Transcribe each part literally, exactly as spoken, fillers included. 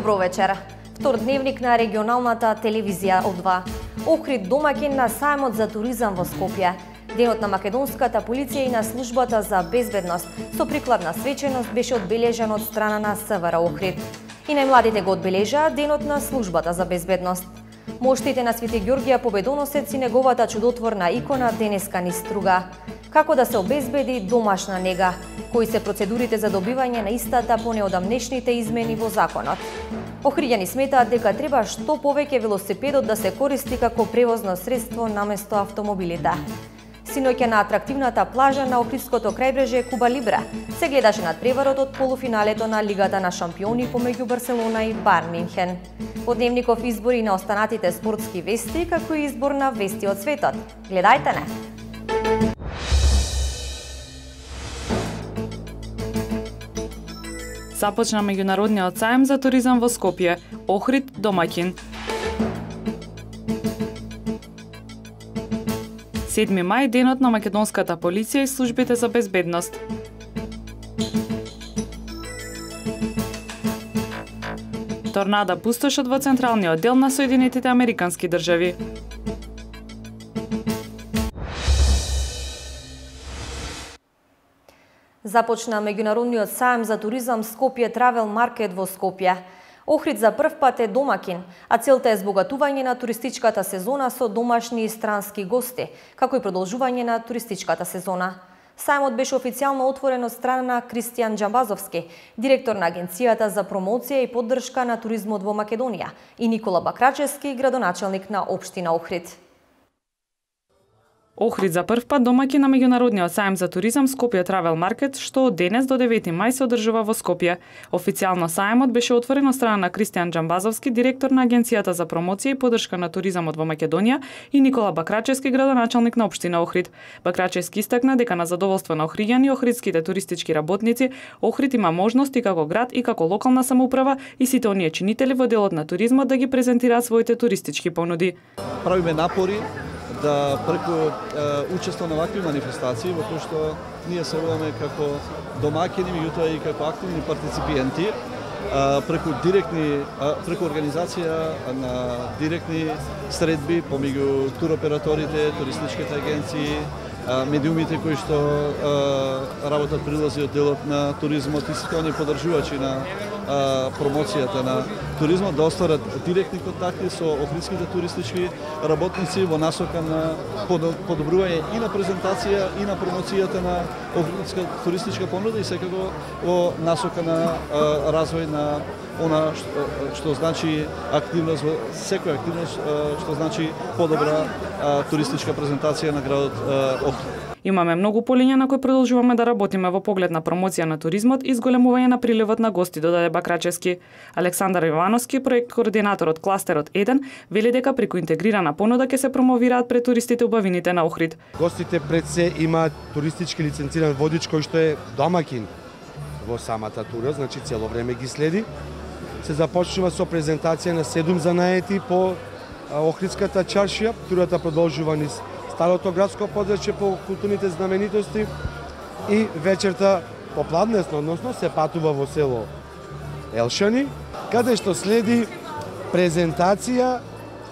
Добро вечер. Втор дневник на регионалната телевизија О два. Охрид домаќин на сајмот за туризам во Скопје. Денот на македонската полиција и на службата за безбедност со прикладна свеченост беше одбележан од страна на СВР Охрид. И најмладите го одбележаа денот на службата за безбедност. Моштите на Свети Ѓорѓија Победоносец и неговата чудотворна икона денеска ни струга. Како да се обезбеди домашна нега? Кои се процедурите за добивање на истата по неодамнешните измени во законот? Охриѓани сметаат дека треба што повеќе велосипедот да се користи како превозно средство наместо автомобилите. Синоќа на атрактивната плажа на Охридското крајбрежје Куба Либре се гледаше надпреварот од полуфиналето на Лигата на шампиони помеѓу Барселона и Байерн Мюнхен. Од дневников избори на останатите спортски вести, како и избор на вести од светот. Гледајте не! Започна меѓународниот сајм за туризам во Скопје. Охрид домаќин. седми мај денот на македонската полиција и службите за безбедност. Торнада пустошат во централниот дел на Соединетите Американски држави. Започна меѓународниот сајм за туризам Скопје Travel Market во Скопје. Охрид за прв пат е домаќин, а целта е збогатување на туристичката сезона со домашни и странски гости, како и продолжување на туристичката сезона. Сајмот беше официјално отворен од страна на Кристијан Џамбазовски, директор на Агенцијата за промоција и поддршка на туризмот во Македонија, и Никола Бакрачевски, градоначелник на општина Охрид. Охрид за прв пат домаќин на меѓународниот сајм за туризам Скопје Travel Market, што од денес до девети мај се одржува во Скопје. Официјално сајмот беше отворен од страна на Кристијан Џамбазовски, директор на Агенцијата за промоција и поддршка на туризмот во Македонија, и Никола Бакрачевски, градоначелник на општина Охрид. Бакрачевски истакна дека на задоволство на охриѓани и охридските туристички работници, Охрид има можност и како град и како локална самоуправа и сите оние чинители во делот на туризмот да ги презентираат своите туристички понуди. Правиме напори да преку е, учество на вакви манифестации, во кои што ние се уваме како домаќини, меѓутоа и како активни партиципиенти, е, преку директни, е, преку организација на директни средби помеѓу туроператорите, туристичките агенции, медиумите кои што е, работат прилази од делот на туризмот и сите оние поддржувачи на промоцијата на туризмот да остварат директни контакти со охридските туристички работници во насока на подобрување и на презентација и на промоцијата на охридска туристичка понуда и секако во насока на развој на она што, што значи активност во секоја активност што значи подобра туристичка презентација на градот Охрид. Имаме многу полиња на кои продолжуваме да работиме во поглед на промоција на туризмот и зголемување на приливот на гости, додаде Бакрачевски. Александар Ивановски, проект координатор од кластерот еден, вели дека преку интегрирана понуда ќе се промовираат пред туристите убавините на Охрид. Гостите пред се имаат туристички лиценциран водич кој што е домаќин во самата тура, значи цело време ги следи. Се започнува со презентација на седум занаети по Охридската чаршија. Турата продолжува низ старото градско подрачје по културните знаменитости и вечерта попладнесно, односно се патува во село Елшани, каде што следи презентација,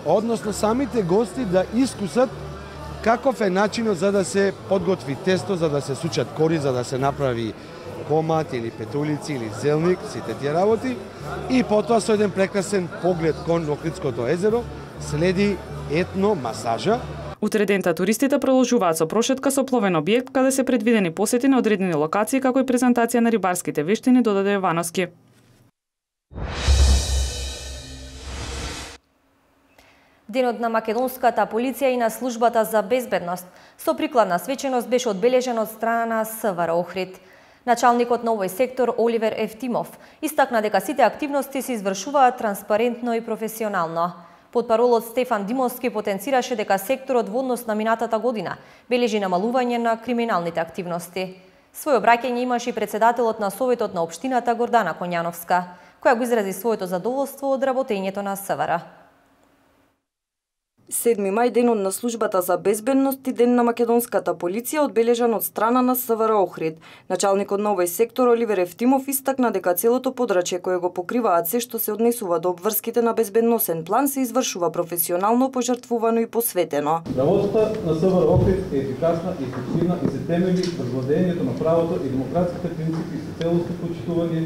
односно самите гости да искусат каков е начинот за да се подготви тесто, за да се сучат кори, за да се направи комат или петулици или зелник, сите тие работи, и потоа со еден прекрасен поглед кон Охридското езеро следи етно масажа. Утре дента туристите продолжуваат со прошетка со пловен објект каде се предвидени посети на одредени локации како и презентација на рибарските вештини, додаде Јовановски. Денот на македонската полиција и на службата за безбедност со прикладна свеченост беше одбележен од страна на СВР Охрид. Началникот на овој сектор Оливер Евтимов истакна дека сите активности се извршуваат транспарентно и професионално. Потпаролот Стефан Димовски потенцираше дека секторот во однос на минатата година бележи намалување на криминалните активности. Свој обраќање имаше и председателот на Советот на општината Гордана Конјановска, која го изрази своето задоволство од работењето на СВР. седми мај, денот на службата за безбедност и ден на македонската полиција, одбележан од страна на СВР Охрид. Началникот на овој сектор Оливер Ефтимов истакна дека целото подрачје кое го покриваат се што се однесува до обврските на безбедносен план се извршува професионално, пожртвувано и посветено. Работата на СВР Охрид е ефикасна и ефективна и се темели врз владењето на правото и демократските принципи и се целосно почитување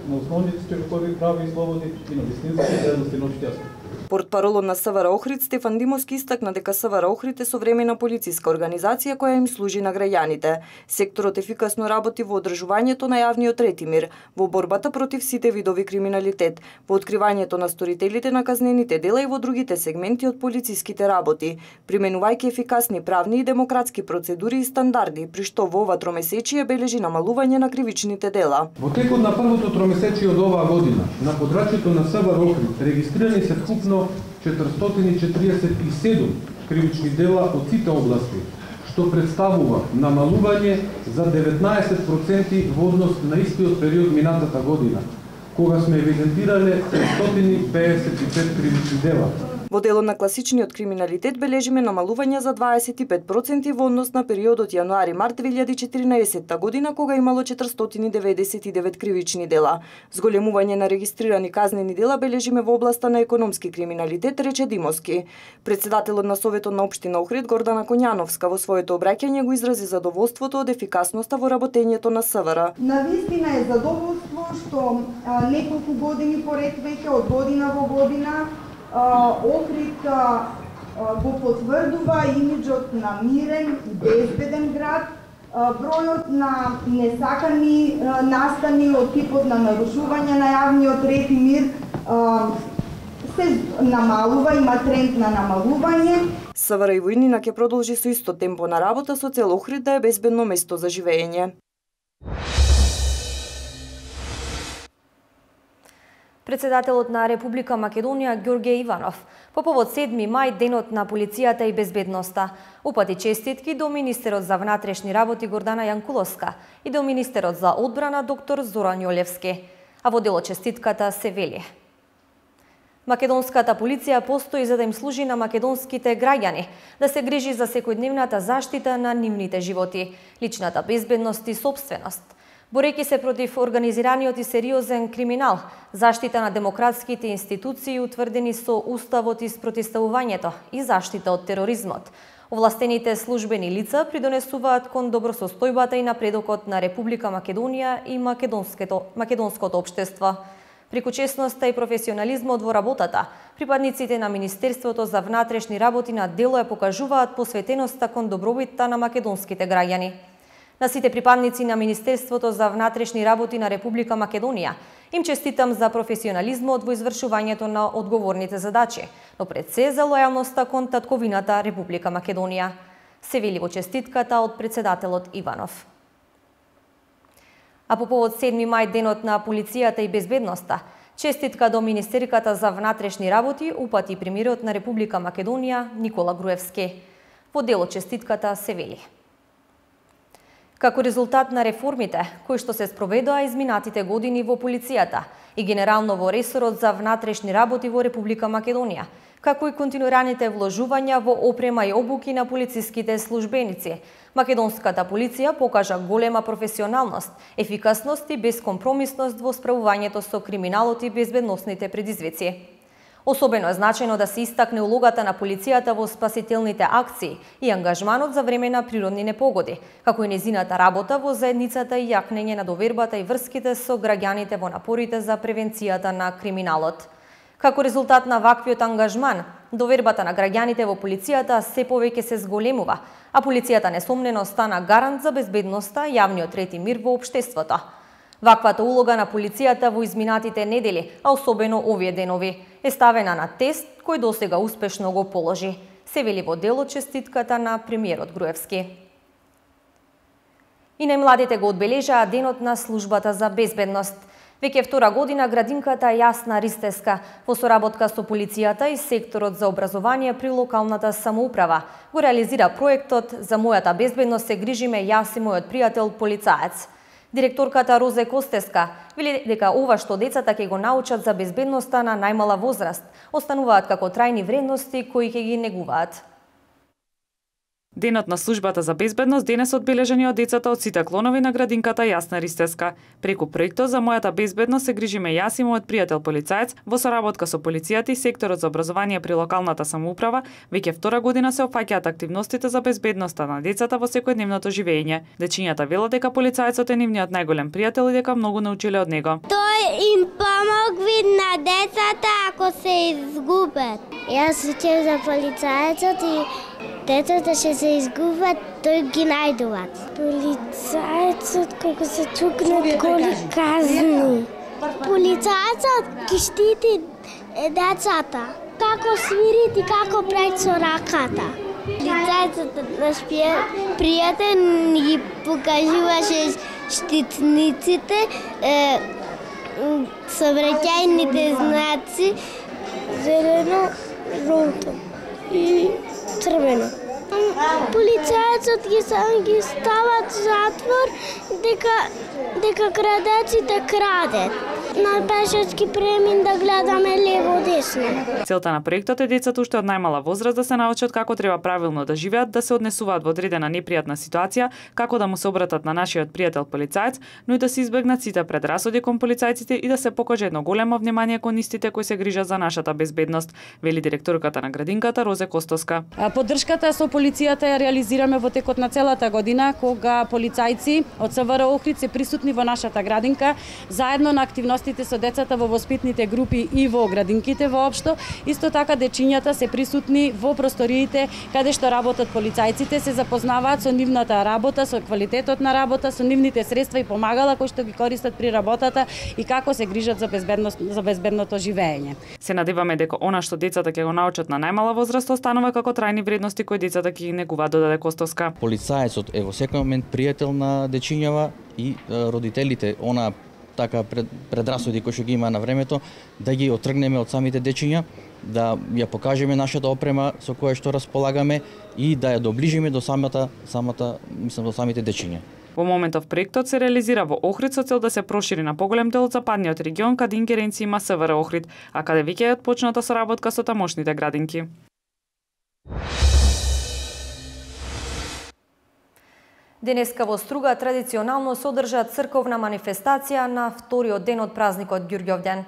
на основните човекови права и слободи и на вистинските ценности на општеството. Портпаролот на СВР Охрид Стефан Димовски истакна дека СВР Охрид е современа полициска организација која им служи на граѓаните. Секторот ефикасно работи во одржувањето на јавниот ред и мир, во борбата против сите видови криминалитет, во откривањето на сторителите на казнените дела и во другите сегменти од полициските работи, применувајќи ефикасни правни и демократски процедури и стандарди, при што во ова тромесечие бележи намалување на кривичните дела. Во текот на првото тромесечие од оваа година, на подрачјето на СВР Охрид регистрирани се вкупно четиристотини и четириесет и седум кривични дела од сите области, што представува намалување за деветнаесет проценти во однос на истиот период минатата година, кога сме евидентирале тристотини пеесет и пет кривични дела. Во делот на класичниот криминалитет бележиме намалување за дваесет и пет проценти во однос на периодот јануари-март две илјади и четиринаесетта година, кога имало четиристотини деветдесет и девет кривични дела. Зголемување на регистрирани казнени дела бележиме во областа на економски криминалитет, рече Димовски. Председателот на Советот на општина Охрид Гордана Коњановска во своето обраќање го изрази задоволството од ефикасноста во работењето на СВР. Навистина е задоволство што а, неколку години поред веќе од година во година Охрид го потврдува имиџот на мирен и безбеден град. Бројот на несакани настани од типот на нарушување на јавниот ред и мир се намалува, има тренд на намалување. СВР и војнина ќе продолжи со исто темпо на работа со цел Охрид да е безбедно место за живење. Председателот на Република Македонија Ѓорѓе Иванов по повод седми мај, денот на полицијата и безбедноста, упати честитки до министерот за внатрешни работи Гордана Јанкуловска и до министерот за одбрана доктор Зоран Јолевски. А во делот честитката се вели: Македонската полиција постои за да им служи на македонските граѓани, да се грижи за секојдневната заштита на нивните животи, личната безбедност и собственост, борејќи се против организираниот и сериозен криминал, заштита на демократските институции утврдени со Уставот и спротивставувањето и заштита од тероризмот. Овластените службени лица придонесуваат кон добросостојбата и напредокот на Република Македонија и македонското, македонското општество. Преку честноста и професионализмот во работата, припадниците на Министерството за внатрешни работи на дело ја покажуваат посветеноста кон добробитта на македонските граѓани. На сите припадници на Министерството за внатрешни работи на Република Македонија им честитам за професионализмот во извршувањето на одговорните задачи, но пред се за лојалноста кон татковината Република Македонија, се вели во честитката од председателот Иванов. А по повод седми мај, денот на полицијата и безбедноста, честитка до Министерката за внатрешни работи упати премиерот на Република Македонија Никола Груевски. Во делот честитката се вели: како резултат на реформите кои што се спроведоа изминатите години во полицијата и генерално во ресорот за внатрешни работи во Република Македонија, како и континуираните вложувања во опрема и обуки на полициските службеници, македонската полиција покажа голема професионалност, ефикасност и безкомпромисност во справувањето со криминалот и безбедносните предизвици. Особено е значајно да се истакне улогата на полицијата во спасителните акции и ангажманот за време на природни непогоди, како и незината работа во заедницата и јакнење на довербата и врските со граѓаните во напорите за превенцијата на криминалот. Како резултат на ваквиот ангажман, довербата на граѓаните во полицијата се повеќе се зголемува, а полицијата несомнено стана гарант за безбедноста, јавниот ред и мир во општеството. Ваквата улога на полицијата во изминатите недели, а особено овие денови, е ставена на тест кој досега успешно го положи, се вели во делот честитката на премиерот Груевски. И најмладите го одбележаа денот на службата за безбедност. Веќе втора година градинката Јасна Ристеска во соработка со полицијата и секторот за образование при локалната самоуправа го реализира проектот "За мојата безбедност се грижиме јас и мојот пријател полицаец". Директорката Розе Костеска вели дека ова што децата ќе го научат за безбедноста на најмала возраст остануваат како трајни вредности кои ќе ги негуваат. Денот на службата за безбедност денес одбележани од децата од сите клонови на градинката Јасна Ристевска. Преку проектот за мојата безбедност се грижиме јас и мојот пријател полицаец во соработка со полицијата и секторот за образование при локалната самоуправа. Веќе втора година се опфаќаат активностите за безбедноста на децата во секојдневното живеење. Дечињата велат дека полицаецот е нивниот најголем пријател и дека многу научиле од него. Тој им помогви на децата ако се изгубат. Јас учев за полицаецот и децата ќе се изгубат, тој ги најдуваат. Полицаецот кога се чукнат голи казни. Полицаецот ги штити децата. Како свирит и како прави со раката. Полицаецот наш пријател ни покажуваше штитниците, е, сообраќајните знаци, зелено, жолто и црвено. Полицаецот ги ги стават затвор дека дека крадеците крадат. На пешачки премин да гледаме лево десно. Целта на проектот е децата уште од најмала возраст да се научат како треба правилно да живеат, да се однесуваат во одредена непријатна ситуација, како да му се обратат на нашиот пријател полицаец, но и да се избегнат сите предрасуди кон полицајците и да се покаже едно големо внимание кон истите кои се грижат за нашата безбедност, вели директорката на градинката Розе Костоска. Поддршката со полицијата ја реализираме во текот на целата година, кога полицајци од СВР Охрид се присутни во нашата градинка, заедно на активности со децата во воспитните групи и во градинките воопшто. Исто така дечињата се присутни во просториите каде што работат полицајците, се запознаваат со нивната работа, со квалитетот на работа, со нивните средства и помагала кои што ги користат при работата и како се грижат за безбедност за безбедното живење. Се надеваме дека она што децата ќе го научат на најмала возраст останува како трајни вредности кои децата ќе ги негуваат, додаде Костоска. Полицаецот е во секој момент пријател на дечињава и родителите, она така пред, предрасуди кои што ги има на времето, да ги отргнеме од самите дечиња, да ја покажеме нашата опрема со која што располагаме и да ја доближиме до самата самата мислам до самите дечиња. Во моментов проектот се реализира во Охрид со цел да се прошири на поголем дел од западниот регион каде ингеренција има СВР Охрид, а каде веќе е отпочната соработка со тамошните градинки. Денеска во Струга традиционално се одржа црковна манифестација на вториот ден од празникот Ѓурѓовден.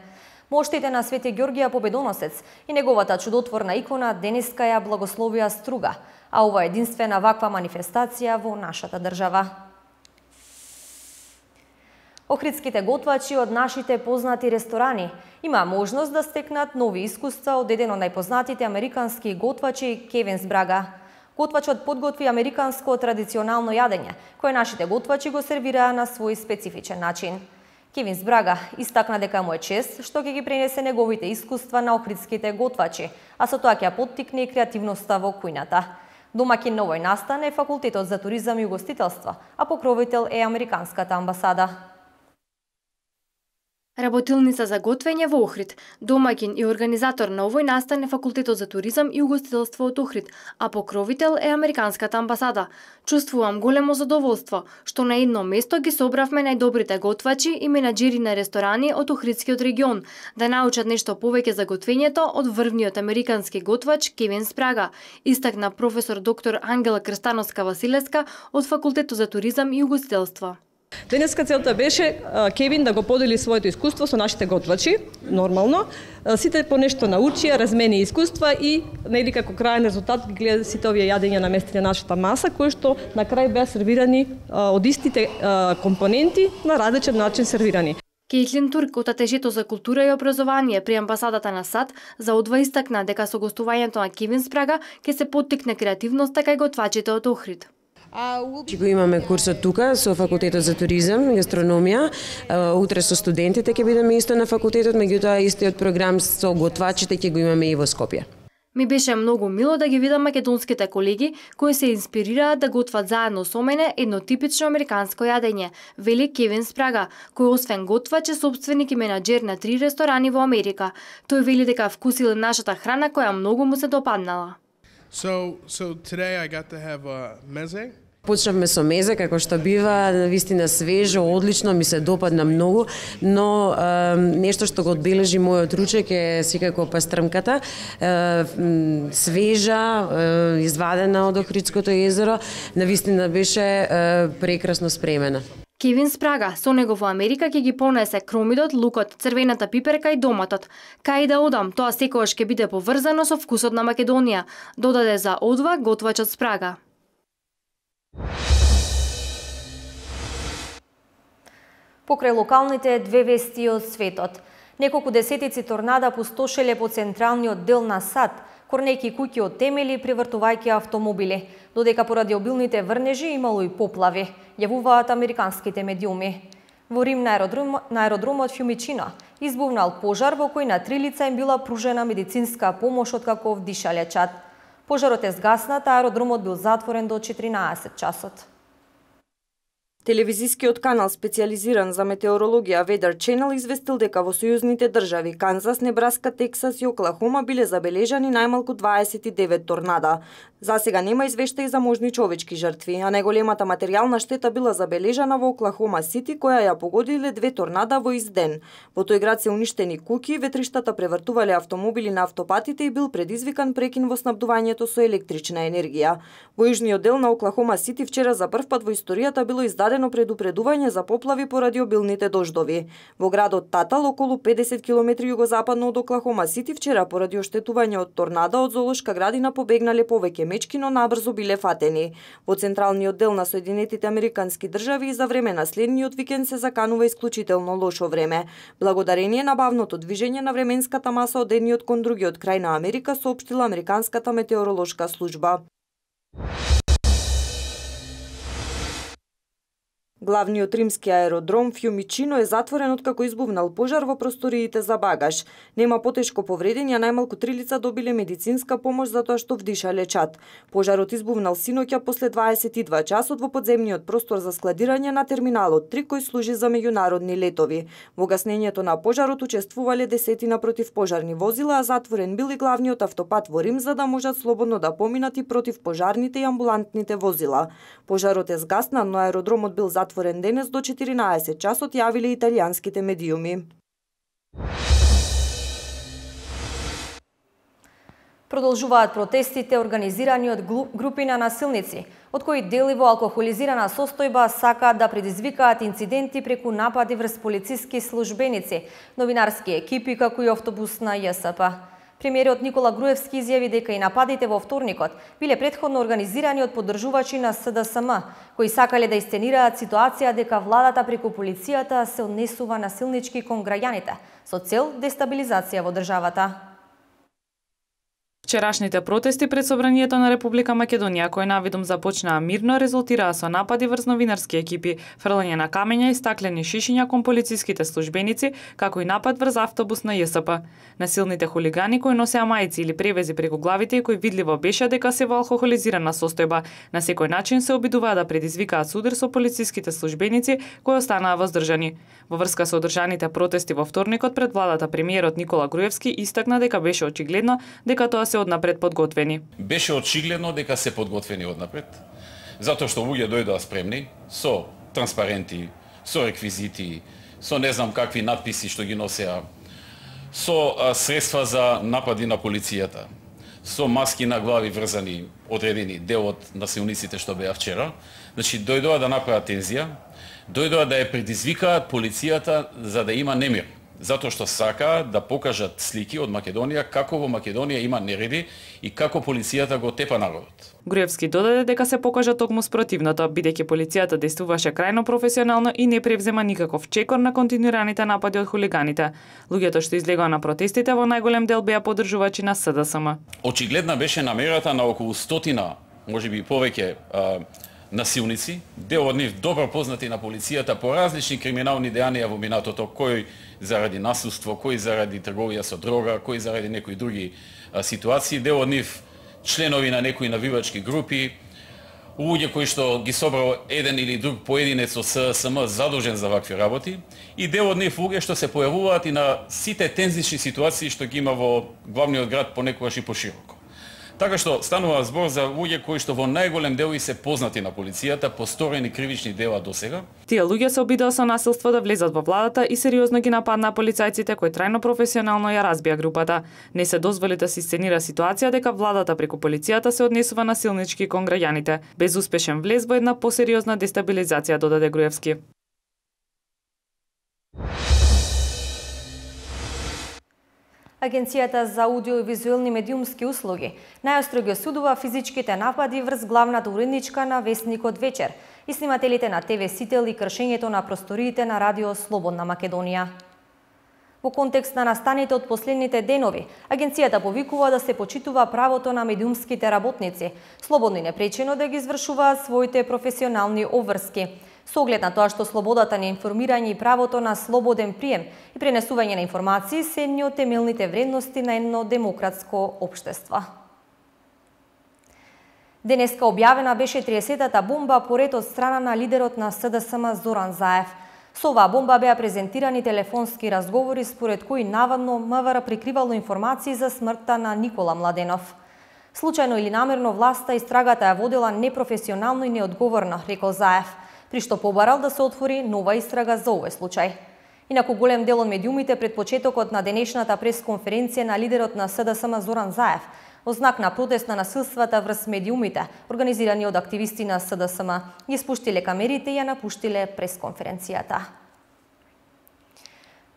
Моштите на Свети Ѓорѓија Победоносец и неговата чудотворна икона денеска ја благословија Струга, а ова е единствена ваква манифестација во нашата држава. Охридските готвачи од нашите познати ресторани има можност да стекнат нови искуства од еден од најпознатите американски готвачи Кевинс Брага. Готвачот подготви американско традиционално јадење, кое нашите готвачи го сервираа на свој специфичен начин. Кевинс Брага истакна дека му е чест што ќе ги пренесе неговите искуства на охридските готвачи, а со тоа ќе поттикне и креативноста во кујната. Домаќин на овој настан е Факултетот за туризам и угостителство, а покровител е Американската амбасада. Работилница за готвење во Охрид. Домаќин и организатор на овој настан е Факултетот за туризам и угостителство од Охрид, а покровител е Американската амбасада. Чувствувам големо задоволство што на едно место ги собравме најдобрите готвачи и менаџери на ресторани од Охридскиот регион да научат нешто повеќе за готвењето од врвниот американски готвач Кевинс Брага, истакна професор доктор Ангела Крстановска-Василевска од Факултетот за туризам и угостителство. Денеска целта беше Кевин да го подели своето искуство со нашите готвачи, нормално. Сите по нешто научија, размени искуства и нели како крајен резултат ги гледа сите овие јадења наместени на нашата маса, кои што на крај беа сервирани од истите компоненти на различен начин сервирани. Кейтлин Турк од Атежето за култура и образование при амбасадата на САД за одва истакна дека со гостувањето на Кевинс Брага ќе се поттикне креативноста кај готвачите од Охрид. Го имаме курсот тука со Факултетот за туризам и гастрономија. Утре со студентите ќе бидеме исто на факултетот, меѓутоа истиот програм со готвачите ќе го имаме и во Скопје. Ми беше многу мило да ги видам македонските колеги кои се инспирираат да готват заедно со мене едно типично американско јадење, вели Кевинс Брага, кој освен готвач е собственик и менаџер на три ресторани во Америка. Тој вели дека вкусил нашата храна која многу му се допаднала. So, so today I got to have a meze. Почнавме со мезе, како што бива, навистина свежо, одлично, ми се допадна многу, но е, нешто што го одбележи мојот ручек е секако пастрмката, е, свежа, е, извадена од Охридското езеро, навистина беше е, прекрасно спремена. Кевин Спрага, со него во Америка ќе ги понесе кромидот, лукот, црвената пиперка и доматот. Кај да одам, тоа секогаш ќе биде поврзано со вкусот на Македонија, додаде за Одва готвачот Спрага. Покрај локалните две вести од светот. Неколку десетици торнада пустошеле по централниот дел на САД, корнејќи куќи од темели, превртувајќи автомобили, додека поради обилните врнежи имало и поплави, јавуваат американските медиуми. Во Рим на, аеродром, на аеродромот Фјумичино избувнал пожар во кој на три лица им била пружена медицинска помош откако вдишале чад. Пожарот е згаснат, а аеродромот бил затворен до четиринаесет часот. Телевизискиот канал специализиран за метеорологија Weather Channel известил дека во сојузните држави Канзас, Небраска, Тексас и Оклахома биле забележани најмалку дваесет и девет торнада. За сега нема извештаи за можни човечки жртви, а најголемата материјална штета била забележана во Оклахома Сити, која ја погодиле две торнада во ист ден. Во тој град се уништени куќи, ветриштата превртувале автомобили на автопатите и бил предизвикан прекин во снабдувањето со електрична енергија. Во јужниот дел на Оклахома Сити вчера за прв пат во историјата било издадено предупредување за поплави поради обилните дождови. Во градот Татал, околу педесет километри југозападно од Оклахома Сити, вчера поради оштетување од торнадо од зоолошка градина побегнале повеќе мечки, но набрзо биле фатени. Во централниот дел на Соединетите Американски држави и за време на следниот викенд се заканува исклучително лошо време. Благодарение на бавното движење на временската маса од едниот кон другиот крај на Америка, соопштила Американската метеоролошка служба. Главниот римски аеродром Фјумичино е затворен откако избувнал пожар во просториите за багаж. Нема потешко повредени, а најмалку три лица добиле медицинска помош затоа што вдишале чад. Пожарот избувнал синоќа после дваесет и два часот во подземниот простор за складирање на терминалот три, кој служи за меѓународни летови. Во гаснењето на пожарот учествувале десетина противпожарни возила, а затворен бил и главниот автопат во Рим за да можат слободно да поминат и противпожарните и амбулантните возила. Пожарот е згаснан, но аеродромот бил затворен затворен денес до четиринаесет часот, јавиле италијанските медиуми. Продолжуваат протестите организирани од групи на насилници, од кои дели во алкохолизирана состојба сакаат да предизвикаат инциденти преку напади врз полициски службеници, новинарски екипи како и автобус на Ја С П. Премиерот Никола Груевски изјави дека и нападите во вторникот биле претходно организирани од поддржувачи на С Д С М, кои сакале да истенираат ситуација дека владата преку полицијата се однесува насилнички кон граѓаните, со цел дестабилизација во државата. Вчерашните протести пред Собранието на Република Македонија, кои навидум започнаа мирно, резултираа со напади врз новинарски екипи, фрлање на камења и стаклени шишиња кон полициските службеници, како и напад врз автобус на Ја С П. Насилните хулигани кои носеа мајци или превези преку главите и кои видливо беше дека се во алкохолизирана состојба, на секој начин се обидуваа да предизвикаат судар со полициските службеници кои останаа воздржани. Во врска со одржаните протести во вторникот пред владата, премиерот Никола Груевски истакна дека беше очигледно дека тоа се однапред подготвени. Беше очигледно дека се подготвени однапред, затоа што луѓе дојдоа спремни со транспаренти, со реквизити, со не знам какви надписи што ги носеа, со а, средства за напади на полицијата, со маски на глави врзани, одредени дел од насилниците што беа вчера. Значи дојдоа да направат тензија, дојдоа да ја предизвикаат полицијата за да има немир. Затоа што сакаат да покажат слики од Македонија како во Македонија има нереди и како полицијата го тепа народот. Груевски додаде дека се покажа токму спротивното, бидејќи полицијата действуваше крајно професионално и не превзема никаков чекор на континуираните напади од хулиганите. Луѓето што излегоа на протестите во најголем дел беа поддржувачи на С Д С М. Очигледна беше намерата на околу стотина, можеби повеќе а, насилници, дел од нив добро познати на полицијата по различни криминални дејанија во минатото, кој заради насилство, кој заради трговија со дрога, кој заради некои други а, ситуации, дел од нив членови на некои навивачки групи, луѓе кои што ги собрал еден или друг поединец од С Д С М задолжен за вакви работи, и дел од нив луѓе што се појавуваат и на сите тензични ситуации што ги има во главниот град понекогаш и пошироко. Така што станува збор за луѓе кои што во најголем дел и се познати на полицијата по сторени кривични дела досега. Тие луѓе се обидоа со насилство да влезат во владата и сериозно ги нападнаа полицајците кои трајно професионално ја разбија групата. Не се дозволи да се сценира ситуација дека владата преку полицијата се однесува насилнички кон граѓаните. Безуспешен влез во една посериозна дестабилизација, додаде Груевски. Агенцијата за аудиовизуелни медиумски услуги најостро ги осудува физичките напади врз главната уредничка на Весникот Вечер и снимателите на ТВ Сител и кршењето на просториите на Радио Слободна Македонија. Во контекст на настаните од последните денови, агенцијата повикува да се почитува правото на медиумските работници, слободно и непречено да ги извршуваат своите професионални обврски, со оглед на тоа што слободата на информирање и правото на слободен прием и пренесување на информации се едни од темелните вредности на едно демократско општество. Денеска објавена беше триесетата бомба поред од страна на лидерот на СДСМ Зоран Заев. Со оваа бомба беа презентирани телефонски разговори според кои наводно МВР прикривало информации за смртта на Никола Младенов. Случајно или намерно власта истрагата ја водела непрофесионално и неодговорно, рекол Заев, при што побарал да се отвори нова истрага за овој случај. Инаку голем дел од медиумите пред почетокот на денешната пресконференција на лидерот на СДСМ Зоран Заев во знак на протест на насилствата врз медиумите, организирани од активисти на СДСМ, ги спуштиле камерите и ја напуштиле пресконференцијата.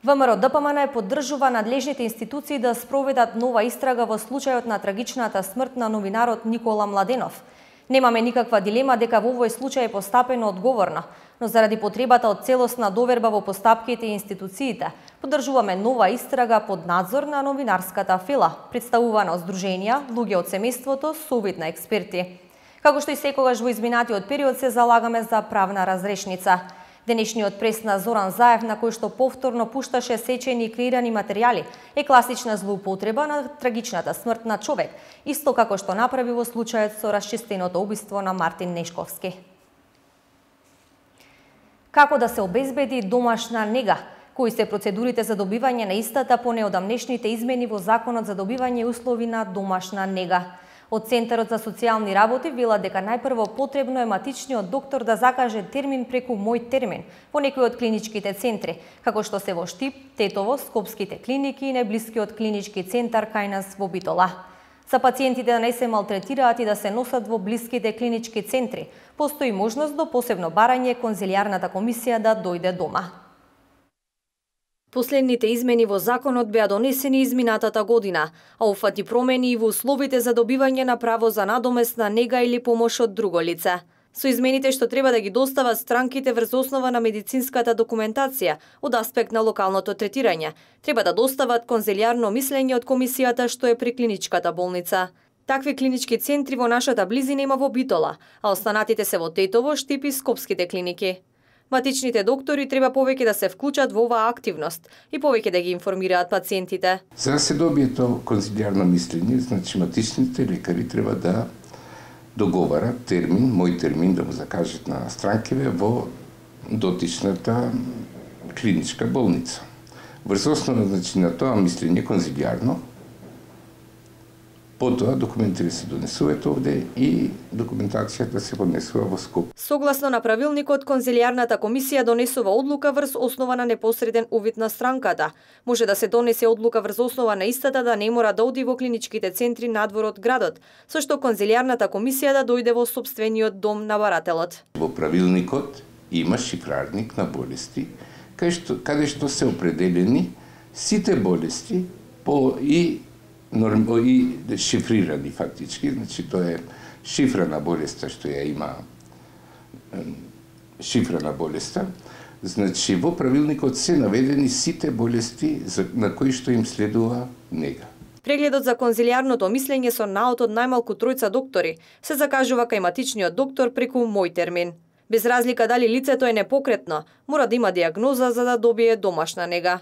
ВМРО Д П М Н поддржува надлежните институции да спроведат нова истрага во случајот на трагичната смрт на новинарот Никола Младенов. Немаме никаква дилема дека во овој случај е постапено одговорно, но заради потребата од целосна доверба во постапките и институциите, поддржуваме нова истрага под надзор на новинарската фила, представувана од здруженија, луѓе од семејството, совет на експерти. Како што и секогаш во изминатиот период се залагаме за правна разрешница. Денешниот прес на Зоран Заев, на кој што повторно пушташе сечени и креирани материјали, е класична злоупотреба на трагичната смрт на човек, исто како што направи во случајот со расчистеното убиство на Мартин Нешковски. Како да се обезбеди домашна нега? Кои се процедурите за добивање на истата по неодамнешните измени во Законот за добивање услови на домашна нега? Од Центарот за социјални работи велат дека најпрво потребно е матичниот доктор да закаже термин преку Мој термин во некои од клиничките центри, како што се во Штип, Тетово, Скопските клиники и најблискиот клинички центар кај нас во Битола. За пациентите да не се малтретираат и да се носат во блиските клинички центри, постои можност до посебно барање конзилијарната комисија да дојде дома. Последните измени во законот беа донесени изминатата година, а уфати промени и во условите за добивање на право за надомесна нега или помош од друго лице. Со измените што треба да ги достават странките врз основа на медицинската документација од аспект на локалното третирање, треба да достават конзилијарно мислење од комисијата што е при клиничката болница. Такви клинички центри во нашата близина има во Битола, а останатите се во Тетово, Штип и Скопските клиники. Матичните доктори треба повеќе да се вклучат во оваа активност и повеќе да ги информираат пациентите. За да се добие тоа конзилијарно мислење, значи матичните лекари треба да договарат термин, мој термин да му закажат на странкиве во дотичната клиничка болница. Врз основа значи на тоа мислење конзилијарно, потоа документите се донесуваат овде и документацијата се поднесува во Скоп. Согласно на правилникот, конзилијарната комисија донесува одлука врз основа на непосреден увид на странката. Може да се донесе одлука врз основа на истата да не мора да оди во клиничките центри надвор од градот, со што конзилијарната комисија да дојде во сопствениот дом на барателот. Во правилникот има шифрарник на болести, каде што, каде што се определени сите болести по и Норм, и шифрирани фактички, значи тоа е шифрана болеста што ја има шифрана болеста, значи во правилникот се наведени сите болести на кои што им следува нега. Прегледот за конзилијарното мислење со наод од најмалку тројца доктори се закажува кај матичниот доктор преку Мој термин. Без разлика дали лицето е непокретно, мора да има диагноза за да добие домашна нега.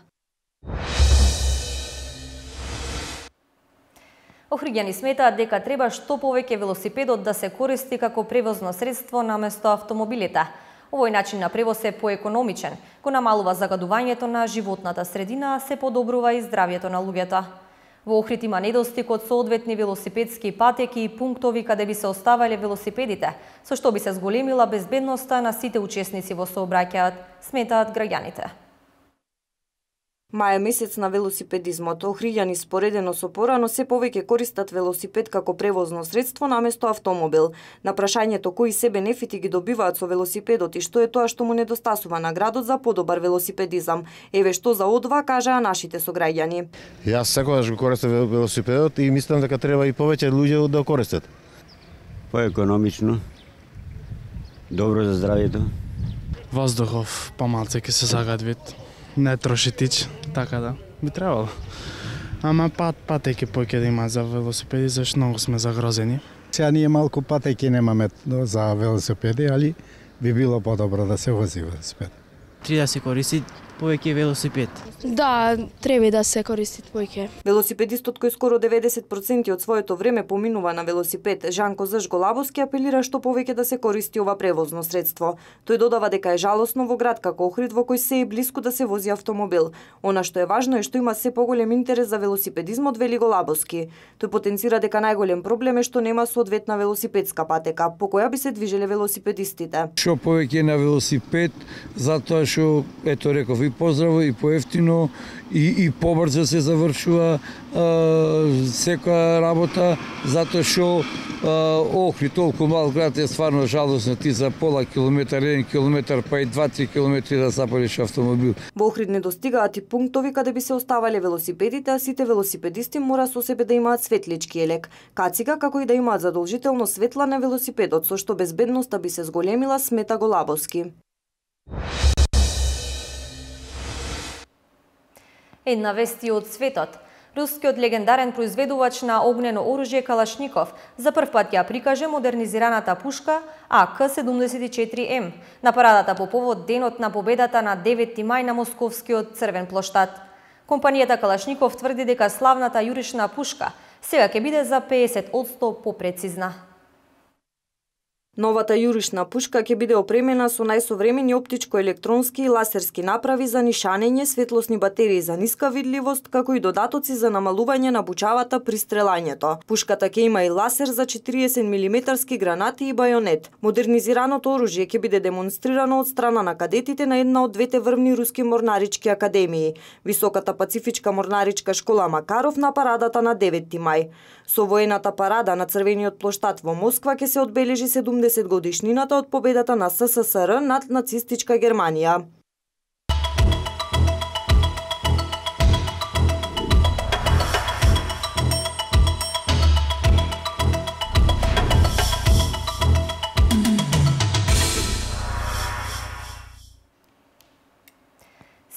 Охриѓани сметаат дека треба што повеќе велосипедот да се користи како превозно средство наместо автомобилите. Овој начин на превоз е поекономичен, го намалува загадувањето на животната средина, а се подобрува и здравјето на луѓето. Во Охрид има недостиг од соодветни велосипедски патеки и пунктови каде би се оставале велосипедите, со што би се зголемила безбедноста на сите учесници во сообраќајот, сметаат граѓаните. Мај е месец на велосипедизмот. Охриѓани споредено со порано се повеќе користат велосипед како превозно средство наместо автомобил. На прашањето кои се бенефити ги добиваат со велосипедот и што е тоа што му недостасува на градот за подобар велосипедизам. Еве што за одва кажаа нашите сограѓани. Јас секогаш го користам велосипедот и мислам дека треба и повеќе луѓе да го користат. Поекономично, добро за здравјето. Воздухов помалце ќе се загадвит. Не троши тич, така да, би требало. Ама пат, патеки поќе да има за велосипеди, зашто многу сме загрозени. Сега ние малку патеки немаме за велосипеди, али би било подобро да се вози велосипед. Треба да се користи повеќе велосипед. Да, треба да се користи повеќе. Велосипедистот кој скоро деветдесет проценти од своето време поминува на велосипед, Жанко Зашголабовски апелира што повеќе да се користи ова превозно средство. Тој додава дека е жалосно во град како Охрид во кој се е блиску да се вози автомобил. Она што е важно е што има се поголем интерес за велосипедизмот, вели Голабовски. Тој потенцира дека најголем проблем е што нема соодветна велосипедска патека по која би се движеле велосипедистите. Што повеќе на велосипед, затоа што ето реков и поздраво и поевтино и и побрзо се завршува секоја работа, затоа што Охрид толку мал град е стварно жалосно, ти за пола километар, еден километар, па и два-три километри да запалиш автомобил. Во Охрид недостигаат и пунктови каде би се оставале велосипедите, а сите велосипедисти мора со себе да имаат светлички елек, кацига, како и да имаат задолжително светла на велосипедот, со што безбедноста би се зголемила, смета Голабовски. Една вести од светот. Рускиот легендарен произведувач на огнено оружје Калашников за прв пат ја прикаже модернизираната пушка А К седумдесет и четири М на парадата по повод денот на победата на деветти мај на Московскиот црвен плоштад. Компанијата Калашников тврди дека славната јурична пушка сега ќе биде за педесет одсто попрецизна. Новата јурична пушка ќе биде опремена со најсовремени оптичко-електронски и ласерски направи за нишанење, светлосни батерии за ниска видливост, како и додатоци за намалување на бучавата при стрелањето. Пушката ќе има и ласер за четириесет милиметарски гранати и бајонет. Модернизираното оружје ќе биде демонстрирано од страна на кадетите на една од двете врвни руски морнарички академии, Високата пацифичка морнаричка школа Макаров на парадата на деветти мај. Со воената парада на Црвениот плоштад во Москва ќе се одбележи седумдесет годишнината од победата на С С С Р над нацистичка Германија.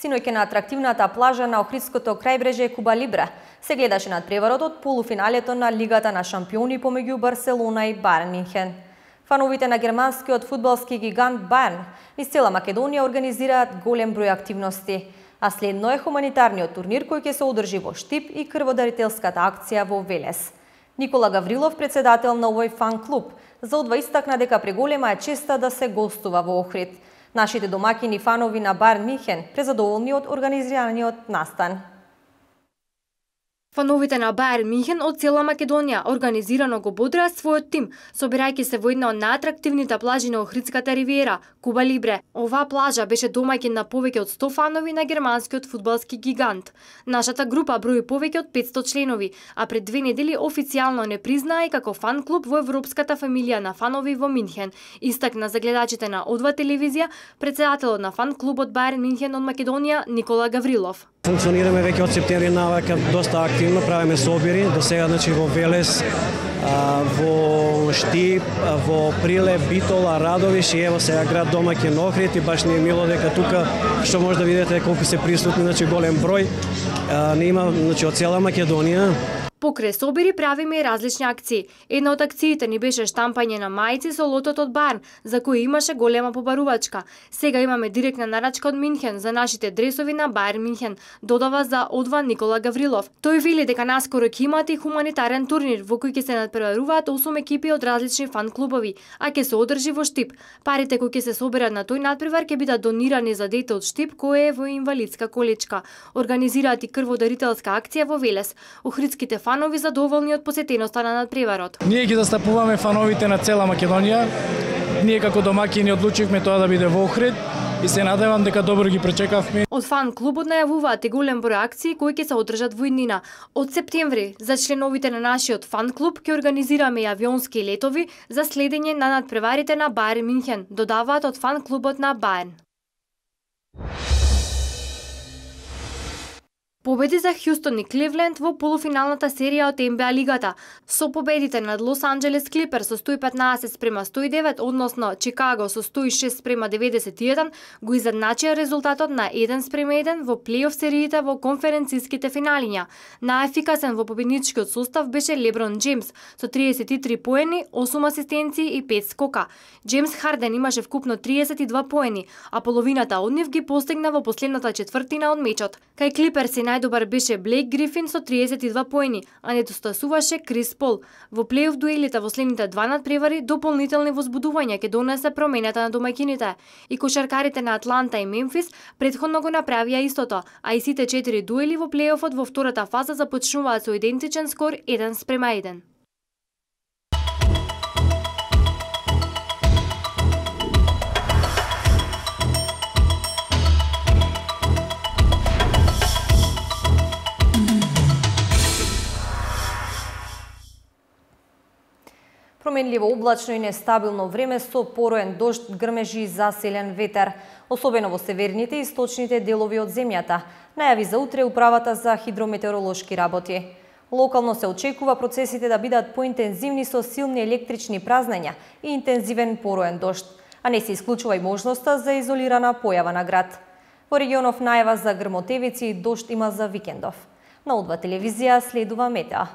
Синоќ на атрактивната плажа на Охридското крајбрежје Куба Либре се гледаше надпреварот од полуфиналето на Лигата на шампиони помеѓу Барселона и Бајерн Минхен. Фановите на германскиот фудбалски гигант Бајерн низ цела Македонија организираат голем број активности, а следно е хуманитарниот турнир кој ќе се одржи во Штип и крводарителската акција во Велес. Никола Гаврилов, председател на овој фан клуб, заодва истакна дека преголема е честа да се гостува во Охрид. Нашите домакини фанови на Бајерн Минхен презадоволни од организираниот настан. Фановите на Бајерн Минхен од цела Македонија организирано го бодреа својот тим, собирајќи се во една од најатрактивните плажи на Охридската ривиера, Куба Либре. Оваа плажа беше домаќин на повеќе од сто фанови на германскиот фудбалски гигант. Нашата група брои повеќе од петсто членови, а пред две недели официјално не признаа и како фан клуб во европската фамилија на фанови во Минхен. Истакна за гледачите на Одва телевизија председателот на фан клубот Бајерн Минхен од Македонија Никола Гаврилов. Функционираме веќе од септември навака доста активно, правиме собири, до сега значи во Велес, а, во Штип, а, во Прилеп, Битола, Радовиш и ево сега град домаќин Охрид и баш ни е мило дека тука што може да видите колку се присутни, значи голем број. А, не има значи од цела Македонија. Покрај собири правиме и различни акции. Една од акциите ни беше штампање на мајци со лотот од Барн, за кои имаше голема побарувачка. Сега имаме директна нарачка од Минхен за нашите дресови на Бајер Минхен, додава за одва Никола Гаврилов. Тој вели дека наскоро ќе имате и хуманитарен турнир во кој ќе се надпреваруваат осум екипи од различни фан клубови, а ќе се одржи во Штип. Парите кои ќе се соберат на тој надпревар ќе бидат донирани за дете од Штип кој е во инвалидска количка. Организираат и крводарителска акција во Велес. Охридските фанови задоволни од посетеноста на надпреварот. Ние ги застапуваме фановите на цела Македонија. Ние како домакини одлучивме тоа да биде во Охрид и се надевам дека добро ги пречекавме. Од фан клубот најавуваат и голем број акции кои ќе се одржат во иднина. Од септември за членовите на нашиот фан клуб ќе организираме и авионски летови за следење на надпреварите на Бајер Минхен, додаваат од фан клубот на Бајерн. Победи за Хјустон и Кливленд во полуфиналната серија од Н Б А лигата. Со победите над Лос Анџелес Клиперс со сто и петнаесет спрема сто и девет, односно Чикаго со сто и шест спрема деветдесет и еден, го изедначија резултатот на еден спрема еден во плейоф сериите во конференциските финалиња. Најефикасен во победничкиот состав беше Леброн Џеймс со триесет и три поени, осум асистенции и пет скока. Џеймс Харден имаше вкупно триесет и два поени, а половината од нив ги постигна во последната четвртина од мечот. Кај Клиперс најдобар беше Блейк Грифин со триесет и два поени, а недостасуваше Крис Пол. Во плейоф дуелите во следните два надпревари дополнителни возбудувања ќе донесе промената на домаќините. И кошаркарите на Атланта и Мемфис претходно го направија истото, а и сите четири дуели во плейофот во втората фаза започнуваат со идентичен скор еден спрема еден. Променливо облачно и нестабилно време со пороен дожд, грмежи и заселен ветер, особено во северните и источните делови од земјата, најави за утре управата за хидрометеоролошки работи. Локално се очекува процесите да бидат поинтензивни со силни електрични празнења и интензивен пороен дожд, а не се исклучува и можноста за изолирана појава на град. Во регионов најава за грмотевици и дожд има за викендов. На О два телевизија следува Метеа.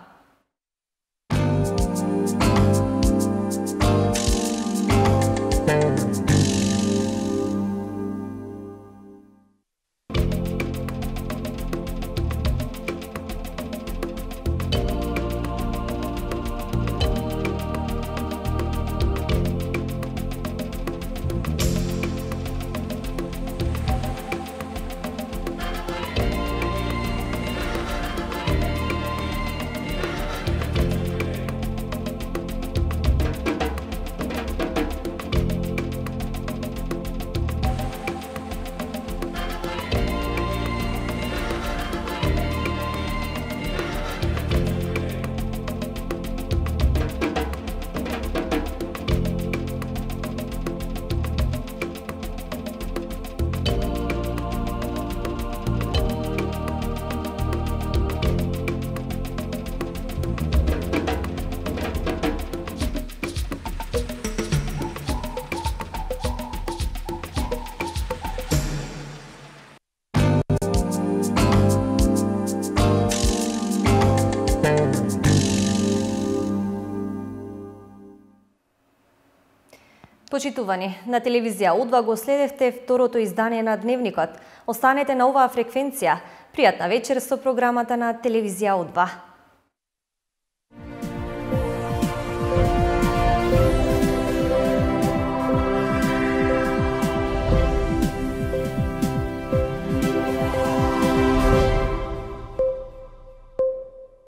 Почитувани, на телевизија О два го следевте второто издание на Дневникот. Останете на оваа фреквенција. Пријатна вечер со програмата на телевизија О два.